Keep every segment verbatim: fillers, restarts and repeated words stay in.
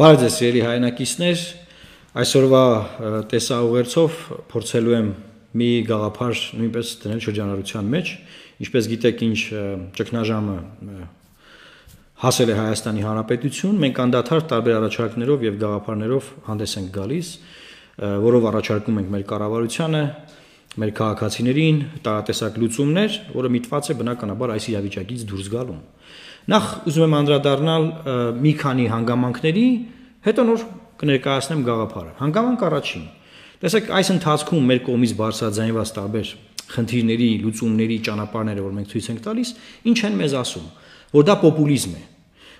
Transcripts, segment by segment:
Բարև ձեզ սիրելի հայրենակիցներ, այսօրվա տեսաուղերձով փորձելու եմ մի գաղափար նույնպես դնել շրջանառության մեջ, ինչպես գիտեք, ինչ ճգնաժամը հասել է Հայաստանի Հանրապետություն, մենք անդադար տարբեր առաջարկներով եւ գաղափարներով հանդես ենք գալիս, որով առաջարկում ենք մեր կառավարությանը, մեր քաղաքացիներին տարատեսակ լուծումներ, որը միտված է բնականաբար այս իրավիճակից դուրս գալուն։ Նախ ուզում եմ անդրադառնալ մի քանի հանգամանքների, հետո նոր կներկայացնեմ գաղափարը։ Հանգամանք առաջին։ Տեսեք, այս ընթացքում մեր կողմից բարձրաձայնված տարբեր խնդիրների, լուծումների ճանապարհները, որ մենք ցույց ենք տալիս, ինչ են մեզ ասում, որ դա պոպուլիզմ է։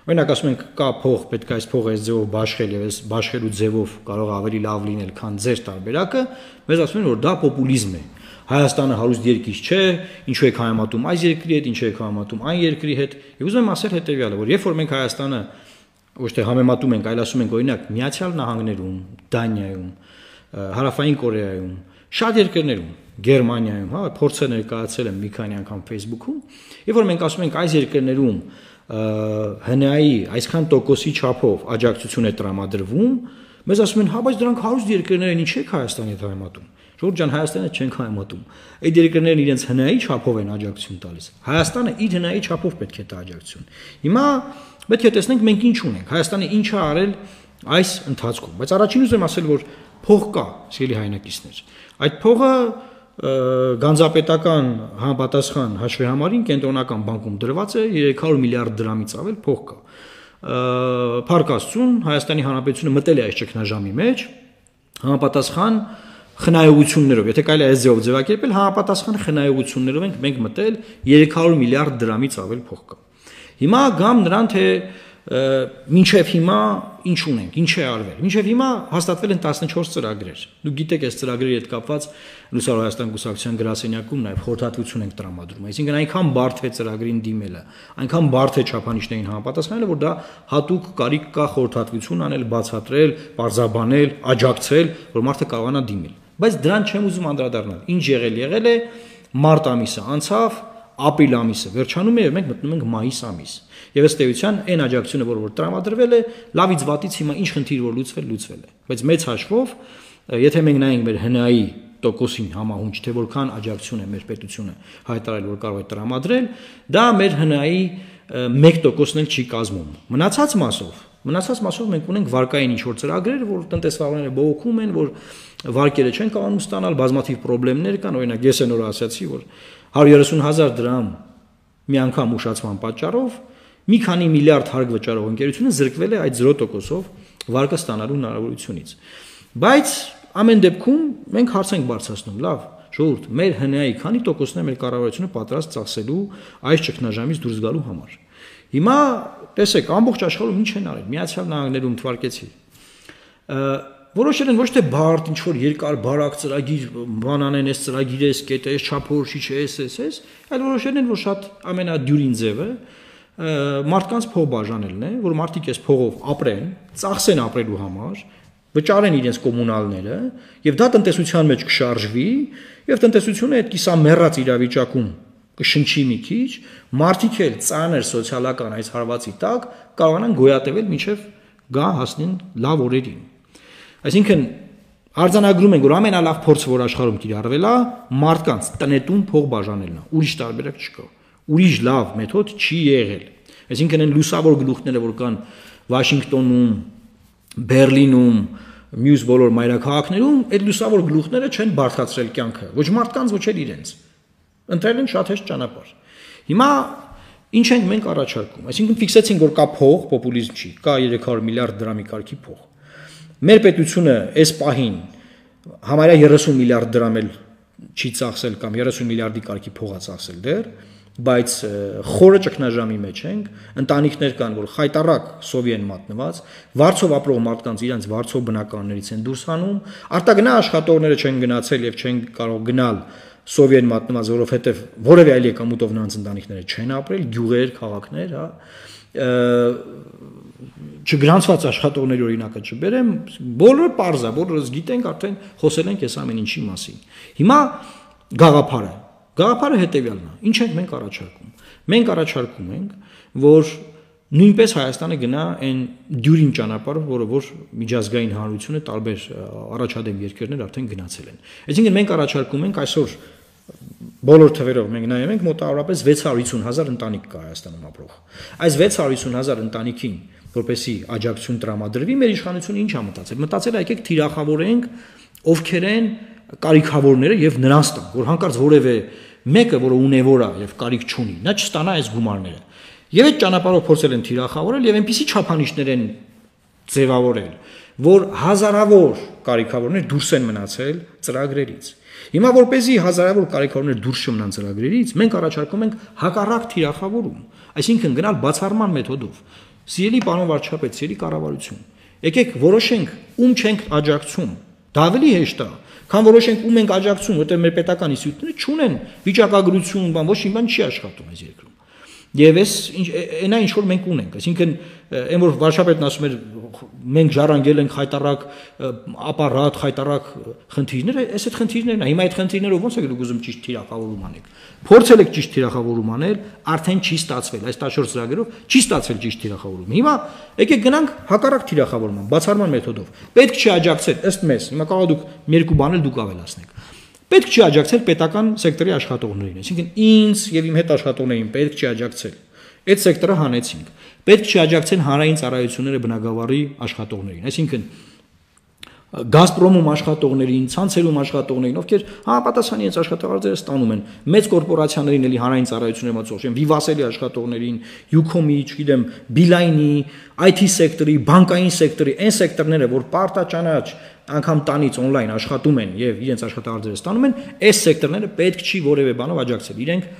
Օրինակ ասում ենք, կա փող, պետք է այս փողը այս ձևով բաշխել եւ այս բաշխելու ձևով կարող է ավելի լավ լինել, քան ձեր տարբերակը, մեզ ասում են, որ դա պոպուլիզմ է։ Հայաստանը հարուստ երկիր չէ, ինչու եք համեմատում այս երկրի հետ, ինչու եք համեմատում այն երկրի հետ։ Եվ ուզում եմ ասել հետեւյալը, որ երբ որ մենք Հայաստանը ոչ թե համեմատում ենք, այլ ասում ենք, օրինակ, Միացյալ Նահանգներում, Դանիայում, Հարավային Կորեայում, շատ երկրներում, Գերմանիայում, հա, փորձը ներկայացել եմ մի քանի անգամ Facebook-ում, երբ որ մենք ասում ենք այս երկրներում Հ Ն A-ի այսքան տոկոսի չափով աջակցություն է տրամադրվում, մեզ ասում են, հա, բայց դրանք հարուստ երկրներ են, ինչ եք Հայաստանի հետ համեմատում։ Ժողովուրդ ջան, Հայաստանը չենք համեմատում։ Այդ երկրներն իրենց Հ Ն A-ի չափով են աջակցություն տալիս։ Հայաստանը իր Հ Ն A-ի չափով պետք է տա աջակցություն։ Հիմա պետք է տեսնենք մենք ինչ ունենք, Հայաստանը ինչ է արել այս ընթացքում։ Բայց առաջին ուզում եմ ասել, որ փող կա, սիրելի հայրենակիցներ։ Այդ փողը Գանձապետական համապատասխան հաշվեհամարին կենտրոնական բանկում դրված է երեք հարյուր միլիարդ դրամից ավել փող կա։ Փառք Աստծուն, Հայաստանի Հանրապետությունը մտել է այս ճգնաժամի մեջ համապատասխան խնայողություններով, եթե կարելի է այս ձևով ձևակերպել, համապատասխան խնայողություններով ենք մենք մտել երեք հարյուր միլիարդ դրամից ավել փող կա։ Հիմա գամ նրան, թե մինչև հիմա ինչ ունենք, ինչ է արվել։ Մինչև հիմա հաստատվել են տասնչորս ծրագրեր։ Դուք գիտեք, այս ծրագրերի հետ կապված Լուսավոր Հայաստան կուսակցության գրասենյակում նաև խորհրդատվություն ենք տրամադրում։ Այսինքն այնքան բարդ է ծրագրին դիմելը, այնքան բարդ է չափանիշներին համապատասխանելը, որ դա հատուկ կարիք կա խորհրդատվություն անել, բացատրել, պարզաբանել, աջակցել, որ մարդը կարողանա դիմել։ Բայց դրան չեմ ուզում անդրադառնալ։ Ինչ եղել եղել է, մարտ ամիսը անցավ, ապրիլ ամիսը վերջանում է եւ մենք մտնում ենք մայիս ամիս։ Եվ ըստ էության այն աջակցությունը, որ որ տրամադրվել է, լավից վատից հիմա ինչ խնդիր որ լուծվել, լուծվել է։ Բայց մեծ հաշվով, եթե մենք նայենք մեր Հ Ն A-ի տոկոսին համահունչ, թե որքան աջակցություն է մեր պետությունը հայտարարել, որ կարող է տրամադրել, դա մեր Հ Ն A-ի մեկ տոկոսն էլ չի կազմում։ Մնացած մասով, մնացած մասով մենք ունենք վարկային ինչ-որ ծրագրեր, որ տնտեսվարները բողոքում են, որ վարկերը չեն կարողանում ստանալ, բազմաթիվ խնդիրներ կան, օրինակ ես այն օրը ասացի, որ հարյուր երեսուն հազար դրամ մի անգամ ուշացման պատճառով մի քանի միլիարդ հարկ վճարող ընկերությունը զրկվել է այդ զրո տոկոսով վարկը ստանալու հնարավորությունից։ Բայց ամեն դեպքում մենք հարց ենք բարձրացնում, լավ, ժողովուրդ, մեր Հ Ն A-ի քանի տոկոսն է մեր կառավարությունը պատրաստ ծախսելու այս ճգնաժամից դուրս գալու համար։ Հիմա տեսեք, ամբողջ աշխարհում ինչ են արել, Միացյալ Նահանգներում թվարկեցի։ Որոշել են ոչ թե բարդ ինչ որ երկար բարակ ծրագիր բանանեն, այս ծրագիրը, այս կետը, այս չափորոշիչ է, այս, այս, այս, այլ որոշել են, որ շատ ամենադյուրին ձևը մարդկանց փող բաժանելն է, որ մարդիկ այս փողով ապրեն, ծախսեն ապրելու համար, վճարեն իրենց կոմունալները, եւ դա տնտեսության մեջ կշարժվի, եւ տնտեսությունը այդ կիսամեռած իրավիճակում կշնչի մի քիչ, մարդիկ էլ ծանր սոցիալական այս հարվածի տակ կարողանան գոյատևել մինչեւ գա հասնեն լավ օրերին։ Այսինքն արձանագրում ենք, որ ամենալավ փորձը, որ աշխարհում կիրառվել է, մարդկանց տնետուն փող բաժանելն է, ուրիշ տարբերակ չկա։ Ուրիշ լավ մեթոդ չի եղել։ Այսինքն այն լուսավոր գլուխները, որ կան Վաշինգտոնում, Բերլինում, մյուս բոլոր մայրաքաղաքներում, այդ լուսավոր գլուխները չեն բարդացրել կյանքը, ոչ մարդկանց, ոչ էլ իրենց։ Ընտրել են շատ հեշտ ճանապարհ։ Հիմա ինչ ենք մենք առաջարկում։ Այսինքն ֆիքսեցինք, որ կա փող, պոպուլիզմ չի, կա երեք հարյուր միլիարդ դրամի կարգի փող։ Մեր պետությունը այս պահին համարյա երեսուն միլիարդ դրամ էլ չի ծախսել կամ երեսուն միլիարդի կարգի փող է ծախսել դեռ, բայց խորը ճգնաժամի մեջ ենք, ընտանիքներ կան, որ խայտառակ սովի են մատնված, վարձով ապրող մարդկանց իրենց վարձով բնակարաններից են դուրս հանում, արտագնա աշխատողները չեն գնացել եւ չեն կարող գնալ սովի են մատնված, որովհետեւ որևէ այլ եկամուտով նրանց ընտանիքները չեն ապրել, գյուղեր, քաղաքներ, հա, չգրանցված աշխատողների օրինակը չբերեմ, բոլորը պարզ է, բոլորս գիտենք, արդեն խոսել ենք այս ամեն ինչի մասին։ Հիմա գաղափարը, գաղափարը հետևյալն է, ինչ ենք մենք առաջարկում։ Մենք առաջարկում ենք, որ նույնպես Հայաստանը գնա այն դյուրին ճանապարհով, որը որ միջազգային հանրությունը տարբեր առաջադեմ երկրներ արդեն գնացել են։ Այսինքն մենք առաջարկում ենք այսօր բոլոր թվերով մենք նայում ենք մոտավորապես վեց հարյուր հիսուն հազար ընտանիք կա Հայաստանում ապրող։ Այս վեց հարյուր հիսուն հազար ընտանիքին, որպեսզի աջակցություն տրամադրվի, մեր իշխանությունը ինչ է մտածել։ Մտածել է եկեք թիրախավորենք ովքեր են կարիքավորները եւ նրանց տան, որ հանկարծ որևէ մեկը, որը ունևոր է եւ կարիք չունի, նա չստանա այս գումարները։ Եվ այդ ճանապարհով փորձել են թիրախավորել եւ այնպիսի չափանիշներ են ձևավորել, որ հազարավոր կարիքավորներ դուրս են մնացել ծրագրերից։ Հիմա որպեսզի հազարավոր կարիքավորներ դուրս չմնան ծրագրերից, մենք առաջարկում ենք հակառակ թիրախավորում, այսինքն գնալ բացառման մեթոդով։ Սիրելի պարոն վարչապետ, սիրելի կառավարություն, եկեք որոշենք ում չենք աջակցում։ Դա ավելի հեշտ է, քան որոշենք ում ենք աջակցում, որտեղ մեր պետական ինստիտուտները չունեն վիճակագրություն, բան, ոչ մի բան չի աշխատում այս երկրում։ Եվ այս այնա ինչ որ մենք ունենք, այսինքն այն որ վարչապետն ասում էր մենք ժառանգել ենք խայտարակ ապարատ, խայտարակ խնդիրներ, այս այդ խնդիրներն է։ Հիմա այդ խնդիրներով ո՞նց է դուք ուզում ճիշտ թիրախավորում անեք։ Փորձել եք ճիշտ թիրախավորում անել, արդեն չի ստացվել, այս տասնչորս ծրագրերով չի ստացվել ճիշտ թիրախավորում։ Հիմա եկեք գնանք հակառակ թիրախավորման, բացառման մեթոդով։ Պետք չի աջակցել ըստ մեզ, հիմա կարող դուք երկու բան էլ դուք ավելացնեք։ Պետք չի աջակցել պետական սեկտորի աշխատողներին, այսինքն ինձ եւ իմ հետ աշխատողներին պետք չի աջակցել։ Այդ սեկտորը հանեցինք։ Պետք չի աջակցել հանրային ծառայությունները բնակավարի աշխատողներին, այսինքն Գազպրոմում աշխատողներին, ցանցերում աշխատողներին, ովքեր համապատասխան իրենց աշխատավարձերը ստանում են, մեծ կորպորացիաներին էլի հանրային ծառայություններ մածող են, Վիվասելի աշխատողներին, Յուքոմի, չգիտեմ, Բիլայնի, այ թի սեկտորի, բանկային սեկտորի, այն սեկտորները, որ պարտաճանաչ անգամ տանից on-line աշխատում են եւ իրենց աշխատավարձերը ստանում են, այս սեկտորները պետք չի որևէ բանով աջակցել, իրենք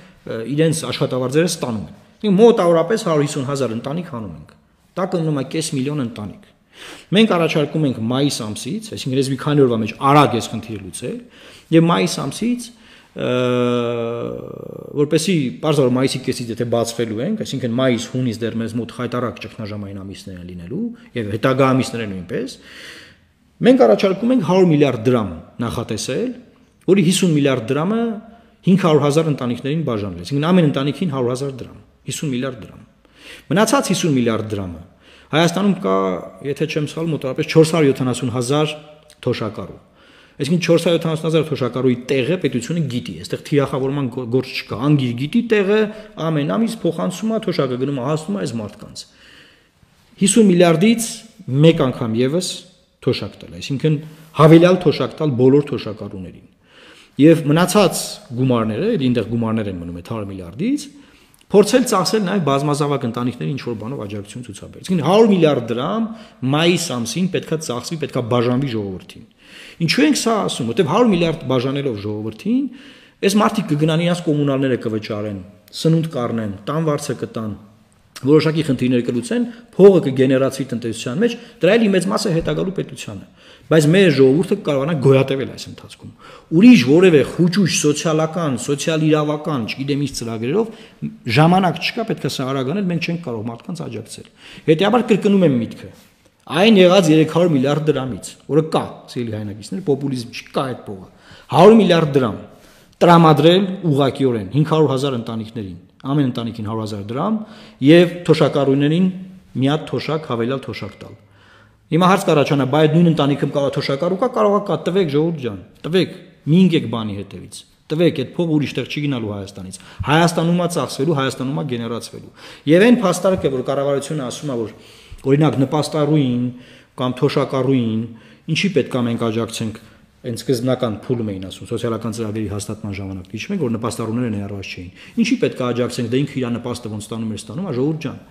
իրենց աշխատավարձերը ստանում են։ Մոտավորապես հարյուր հիսուն հազար ընտանիք հանում ենք։ Դա կլինում է կես միլիոն ընտանիք։ Մենք առաջարկում ենք մայիս ամսից, այսինքն ես մի քանի օրվա մեջ արագ ես խնդիրը լուծել, եւ մայիս ամսից որպեսի բարձր մայիսի կեսից եթե բացվելու ենք, այսինքն մայիս, հունիս դեռ մեզ մոտ խայտարակ ճգնաժամային ամիսներ են լինելու եւ հետագա ամիսները նույնպես, մենք առաջարկում ենք հարյուր միլիարդ դրամ նախատեսել, որի հիսուն միլիարդ դրամը հինգ հարյուր հազար ընտանիքներին բաժանվել, այսինքն ամեն ընտանիքին հարյուր հազար դրամ, հիսուն միլիարդ դրամ։ Մնացած հիսուն միլիարդ դրամը Հայաստանում կա, եթե չեմ սխալվում, մոտավորապես չորս հարյուր յոթանասուն հազար թոշակառու։ Այսինքն չորս հարյուր յոթանասուն հազար թոշակառուի տեղը պետությունը գիտի, այստեղ թիրախավորման գործ չկա, անգիր գիտի տեղը, ամեն ամիս փոխանցում է թոշակը գնում է հասնում է այս մարդկանց։ հիսուն միլիարդից մեկ անգամ եւս թոշակ տալ, այսինքն հավելյալ թոշակ տալ բոլոր թոշակառուներին։ Եվ մնացած գումարները, այնտեղ գումարներ են մնում այդ հարյուր միլիարդից փորձել ծախսել նաև բազմազավակ ընտանիքների ինչ որ բանով աջակցություն ցուցաբերել։ Այսինքն հարյուր միլիարդ դրամ մայիս ամսին պետքա ծախսվի, պետքա բաժանվի ժողովրդին։ Ինչու ենք սա ասում, որտեղ հարյուր միլիարդ բաժանելով ժողովրդին, այս մարդիկ կգնան իրենց կոմունալները կվճարեն, սնունդ կառնեն, տան վարձը կտան, որոշակի խնդիրներ կլուծեն, փողը կգեներացվի տնտեսության մեջ, դրա էլի մեծ մասը հետագալու պետությանը։ Բայց մեր ժողովուրդը կարողանա գոյատևել այս ընթացքում։ Ուրիշ որևէ խուճուճ սոցիալական, սոցիալ-իրավական, չգիտեմ ինչ ծրագրերով ժամանակ չկա, պետք է սա արագ անել, մենք չենք կարող մարդկանց աջակցել։ Հետեւաբար կրկնում եմ միտքը։ Այն եղած երեք հարյուր միլիարդ դրամից, որը կա, ցելի հայնակիցներ, պոպուլիզմ չկա այդ փողը։ հարյուր միլիարդ դրամ տրամադրել ուղղակիորեն հինգ հարյուր հազար ընտանիքներին, ամեն ընտանիքին հարյուր հազար դրամ եւ թոշակառուներին մի հատ թոշակ հավելյալ թոշակ տալ։ Հիմա հարց կառաջանա, բայց նույն ընտանիքում կարող թոշակառու կա, կարող է կա, տվեք ժողովուրդ ջան, տվեք, մի ինգեք բանի հետևից։ Տվեք, այդ փողը ուրիշ տեղ չի գնալու Հայաստանից։ Հայաստանում է ծախսվելու, Հայաստանում է գեներացվելու։ Եվ այն փաստարկը, որ կառավարությունը ասում է, որ օրինակ նպաստառուին կամ թոշակառուին ինչի պետք է մենք աջակցենք, այն սկզբնական փուլում էին ասում սոցիալական ծրագրերի հաստատման ժամանակ, հիշում եք, որ նպաստառուները ներառված չէին։ Ինչի պետք է աջակցենք, դե ինքը իր նպաստը ոնց ստանում էր ստանում, ժողովուրդ ջան։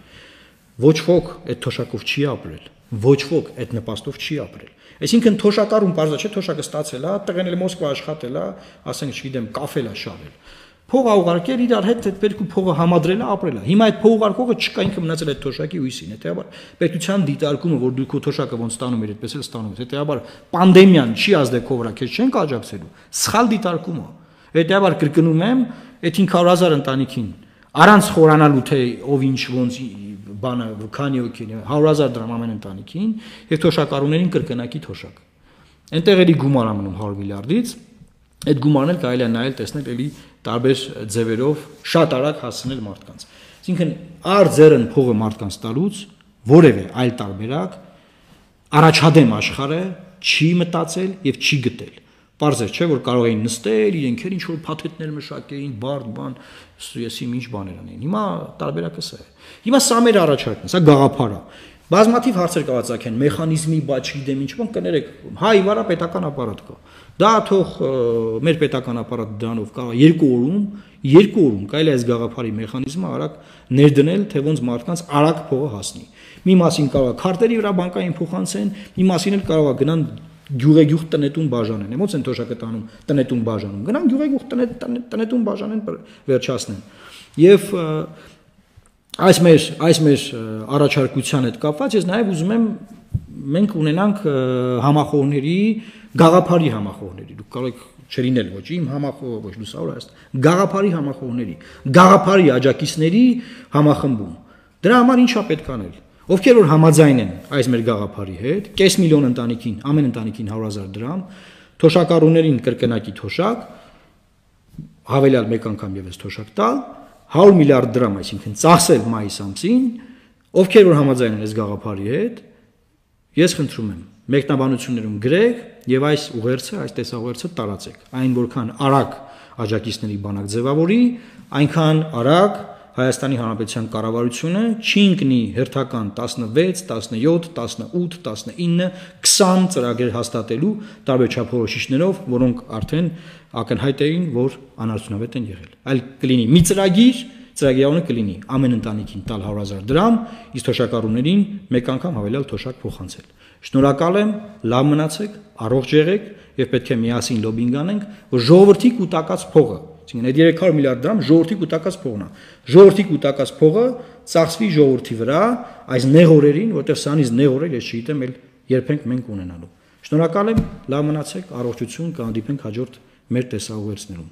Ոչ ոք այդ թոշակով չի ապրել, ոչ ոք այդ նպաստով չի ապրել։ Այսինքն թոշակառուն բարձր չէ, թոշակը ստացել է, տղեն էլ Մոսկվա աշխատել է, ասենք չգիտեմ, կաֆել է շարել։ Փողը ուղարկել իրար հետ այդ երկու փողը համադրել է, ապրել է։ Հիմա այդ փող ուղարկողը չկա, ինքը մնացել այդ թոշակի հույսին, հետեւաբար պետության դիտարկումը, որ դու քո թոշակը ոնց ստանում ես, այդպես էլ ստանում ես, հետեւաբար պանդեմիան չի ազդեցել վրա, քեզ չեն աջակցելու։ Սխալ դիտարկում է։ Հետեւաբար կրկնում եմ, այդ հինգ հարյուր հազար ընտանիքին առանց խորանալու թե ով ինչ ոնց բանը քանի օքին հարյուր հազար դրամ ամեն ընտանիքին եւ թոշակառուներին կրկնակի թոշակ։ Այնտեղ էլի գումար է մնում հարյուր միլիարդից, այդ գումարն էլ կարելի է նայել տեսնել էլի տարբեր ձևերով շատ արագ հասցնել մարդկանց։ Այսինքն արձերն փողը մարդկանց տալուց որևէ այլ տարբերակ առաջադեմ աշխարհը չի մտածել եւ չի գտել։ Պարզ է, չէ, որ կարող էին նստել, իրենք ինչ որ փաթեթներ մշակեին, բարդ բան, եսի ինչ բաներ անեին։ Հիմա տարբերակը սա է։ Հիմա սա մեր առաջարկն է, սա գաղափար է։ Բազմաթիվ հարցեր կարող ցակեն, մեխանիզմի բաց չգիտեմ ինչ բան, կներեք, հայ վարա պետական ապարատ կա։ Դա թող մեր պետական ապարատը դրանով կարող երկու օրում, երկու օրում կարելի է այս գաղափարի մեխանիզմը արագ ներդնել, թե ոնց մարդկանց արագ փողը հասնի։ Մի մասին կարող է քարտերի վրա բանկային փոխանցեն, մի մասին էլ կարող է գնան գյուղեգյուղ տնետուն բաժանեն, ոնց են թոշակը տանում տնետուն բաժանում, գնան գյուղեգյուղ տնետուն բաժանեն վերջացնեն։ Եվ այս մեր այս մեր առաջարկության հետ կապված ես նաև ուզում եմ մենք ունենանք համախոհների գաղափարի համախոհների, դուք կարող եք չլինել ոչ իմ համախոհը, ոչ լուսավոր աստ, գաղափարի համախոհների, գաղափարի աջակիցների համախմբում։ Դրա համար ինչա պետք անել։ Ովքեր որ համաձայն են այս մեր գաղափարի հետ, կես միլիոն ընտանիքին, ամեն ընտանիքին հարյուր հազար դրամ, թոշակառուներին կրկնակի թոշակ, հավելյալ մեկ անգամ եւս թոշակ տալ, հարյուր միլիարդ դրամ, այսինքն ծախսել մայիս ամսին, ովքեր որ համաձայն են այս գաղափարի հետ, ես խնդրում եմ, մեկնաբանություններում գրեք եւ այս ուղերձը, այս տեսաուղերձը տարածեք։ Այն որքան արագ աջակիցների բանակ ձևավորի, այնքան արագ Հայաստանի Հանրապետության կառավարությունը չի ընկնի հերթական տասնվեց, տասնյոթ, տասնութ, տասնինը, քսան ծրագրեր հաստատելու տարբեր չափորոշիչներով, որոնք արդեն ակնհայտ էին, որ անարդյունավետ են եղել։ Այլ կլինի մի ծրագիր, ծրագրավորը կլինի ամեն ընտանիքին տալ հարյուր հազար դրամ, իսկ թոշակառուներին մեկ անգամ հավելյալ թոշակ փոխանցել։ Շնորհակալ եմ, լավ մնացեք, առողջ եղեք եւ պետք է միասին լոբինգ անենք, որ ժողովրդի կուտակած փողը Այսինքն այդ երեք հարյուր միլիարդ դրամ ժողովրդի կուտակած փողն է։ Ժողովրդի կուտակած փողը ծախսվի ժողովրդի վրա այս նեղ օրերին, որտեղ սրանից նեղ օրեր ես չգիտեմ էլ երբենք մենք ունենալու։ Շնորհակալ եմ, լավ մնացեք, առողջություն, կհանդիպենք հաջորդ մեր տեսաուղերձներում։